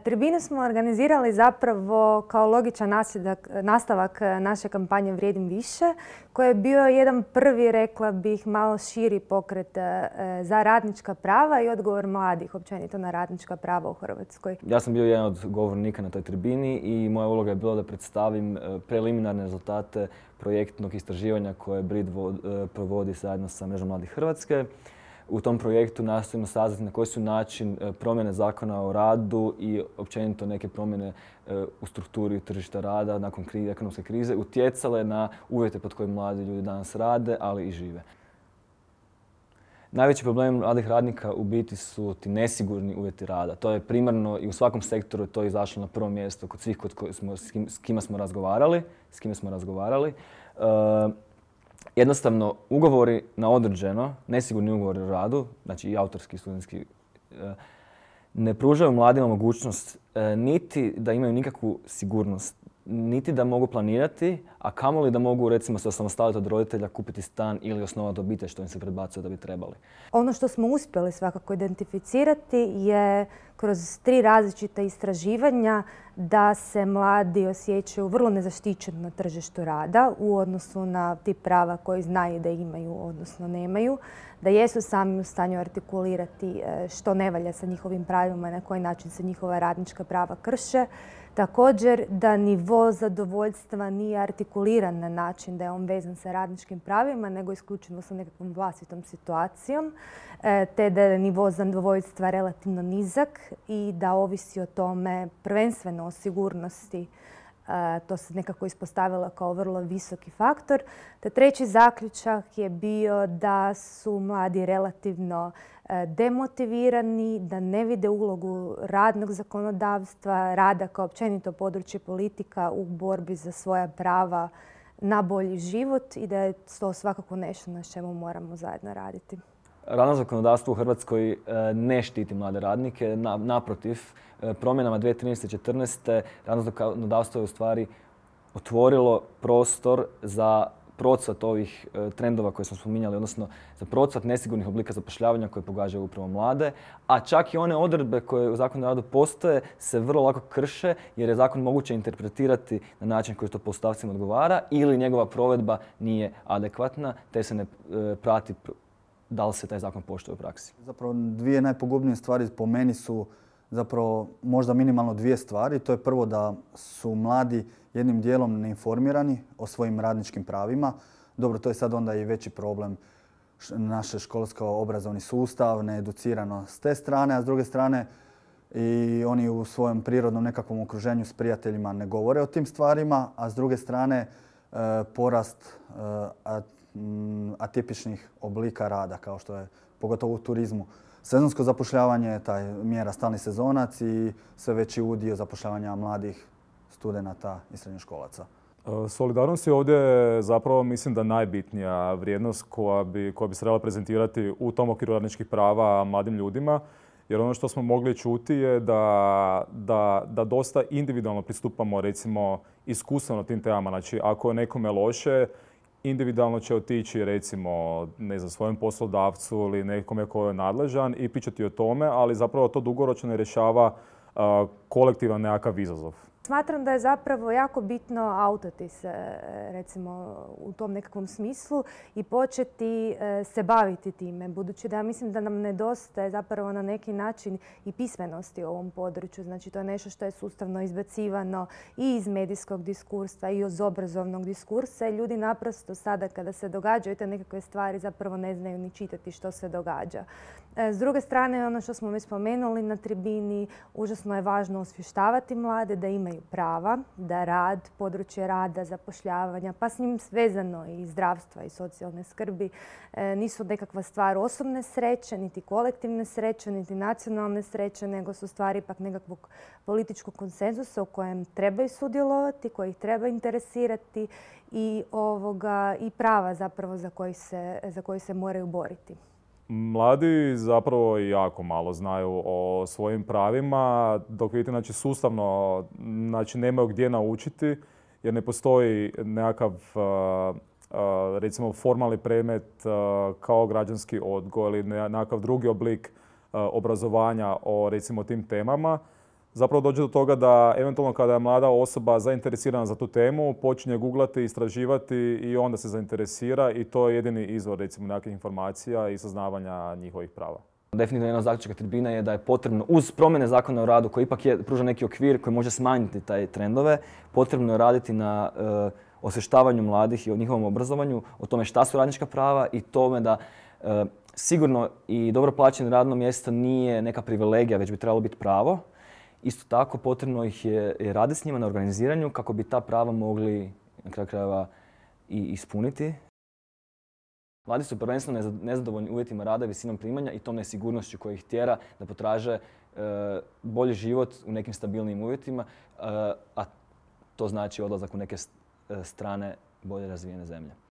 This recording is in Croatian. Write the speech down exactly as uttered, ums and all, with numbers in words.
Tribinu smo organizirali zapravo kao logičan nastavak naše kampanje Vrijedim više, koji je bio jedan prvi, rekla bih, malo širi pokret za radnička prava i odgovor mladih općenito na radnička prava u Hrvatskoj. Ja sam bio jedan od govornika na toj tribini i moja uloga je bila da predstavim preliminarne rezultate projektnog istraživanja koje BRID provodi zajedno sa Mrežom mladih Hrvatske. U tom projektu nastojimo saznati na koji su način promjene zakona o radu i općenito neke promjene u strukturi tržišta rada nakon ekonomske krize utjecale na uvjete pod kojim mladi ljudi danas rade, ali i žive. Najveći problem mladih radnika u biti su ti nesigurni uvjeti rada. To je primarno i u svakom sektoru to je izašlo na prvo mjesto kod svih kod koji smo, s, kim, s kime smo razgovarali. S kime smo razgovarali. Uh, Jednostavno, ugovori na određeno, nesigurni ugovori o radu, znači i autorski i studentski, ne pružaju mladima mogućnost niti da imaju nikakvu sigurnost, niti da mogu planirati, a kamoli da mogu recimo se osamostaliti od roditelja, kupiti stan ili osnovati obitelj što im se predbacuje da bi trebali. Ono što smo uspjeli svakako identificirati je kroz tri različita istraživanja da se mladi osjećaju vrlo nezaštićeno na tržištu rada u odnosu na tip prava koji znaju da imaju, odnosno nemaju, da jesu sami u stanju artikulirati što ne valja sa njihovim pravima i na koji način se njihova radnička prava krše. Također da nivo zadovoljstva nije artikuliran na način da je on vezan sa radničkim pravima, nego isključivo sa nekakvom vlastitom situacijom, te da je nivo zadovoljstva relativno nizak i da ovisi o tome prvenstveno o sigurnosti. To se nekako ispostavilo kao vrlo visoki faktor. Te treći zaključak je bio da su mladi relativno demotivirani, da ne vide ulogu radnog zakonodavstva, rada kao općenito područje politika u borbi za svoja prava na bolji život i da je to svakako nešto na čemu moramo zajedno raditi. Radno zakonodavstvo u Hrvatskoj ne štiti mlade radnike. Naprotiv, promjenama dvije tisuće trinaeste i četrnaeste radno zakonodavstvo je u stvari otvorilo prostor za procvat ovih trendova koje smo spominjali, odnosno za procvat nesigurnih oblika zapošljavanja koje pogađaju upravo mlade, a čak i one odredbe koje u Zakonu o radu postoje se vrlo lako krše jer je zakon moguće interpretirati na način koji to poslodavcima odgovara ili njegova provedba nije adekvatna te se ne prati da li se taj zakon poštuje u praksi. Zapravo dvije najpogubnije stvari po meni su zapravo možda minimalno dvije stvari. To je prvo da su mladi jednim dijelom neinformirani o svojim radničkim pravima. Dobro, to je sad onda i veći problem naše školsko-obrazovni sustav, needucirano s te strane, a s druge strane i oni u svojem prirodnom nekakvom okruženju s prijateljima ne govore o tim stvarima, a s druge strane porast atipičnih oblika rada, kao što je pogotovo u turizmu. Sezonsko zapošljavanje je taj mjera stalni sezonac i sve veći udio zapošljavanja mladih studenata i srednjoškolaca. Solidarnost je ovdje zapravo, mislim da, najbitnija vrijednost koja bi, koja bi se trebala prezentirati u tom okviru radničkih prava mladim ljudima. Jer ono što smo mogli čuti je da, da, da dosta individualno pristupamo recimo iskustveno tim temama. Znači, ako je nekome loše, individualno će otići recimo ne znam, svojem poslodavcu ili nekome ko je nadležan i pričati o tome, ali zapravo to dugoročno ne rješava uh, kolektivan nekakav izazov. Smatram da je zapravo jako bitno autati se recimo u tom nekakvom smislu i početi se baviti time, budući da ja mislim da nam nedostaje zapravo na neki način i pismenosti u ovom području. Znači to je nešto što je sustavno izbacivano i iz medijskog diskursa i iz obrazovnog diskursa i ljudi naprosto sada kada se događaju te nekakve stvari zapravo ne znaju ni čitati što se događa. S druge strane, ono što smo već spomenuli na tribini, užasno je važno osvještavati mlade da imaju prava, da rad, područje rada, zapošljavanja, pa s njim vezano i zdravstva i socijalne skrbi nisu nekakva stvar osobne sreće, niti kolektivne sreće, niti nacionalne sreće, nego su stvari ipak nekakvog političkog konsenzusa u kojem trebaju sudjelovati, koji ih treba interesirati i, ovoga, i prava zapravo za koji se, za koji se moraju boriti. Mladi zapravo jako malo znaju o svojim pravima, dok vidite, znači, sustavno, znači, nemaju gdje naučiti jer ne postoji nekakav recimo formalni predmet kao građanski odgoj ili nekakav drugi oblik obrazovanja o recimo tim temama. zapravo dođe do toga da eventualno kada je mlada osoba zainteresirana za tu temu, počinje googlati, istraživati i onda se zainteresira i to je jedini izvor recimo nekakvih informacija i saznavanja njihovih prava. Definitivno jedna od zaključaka tribine je da je potrebno, uz promjene zakona o radu koji ipak je, pruža neki okvir koji može smanjiti taj trendove, potrebno je raditi na uh, osvještavanju mladih i o njihovom obrazovanju, o tome šta su radnička prava i tome da uh, sigurno i dobro plaćeno radno mjesto nije neka privilegija, već bi trebalo biti pravo. Isto tako potrebno ih je, je raditi s njima na organiziranju kako bi ta prava mogli na kraju krajeva i ispuniti. Mladi su prvenstveno nezadovoljni uvjetima rada i visinom primanja i tom nesigurnošću koja ih tjera da potraže e, bolji život u nekim stabilnim uvjetima, e, a to znači odlazak u neke strane bolje razvijene zemlje.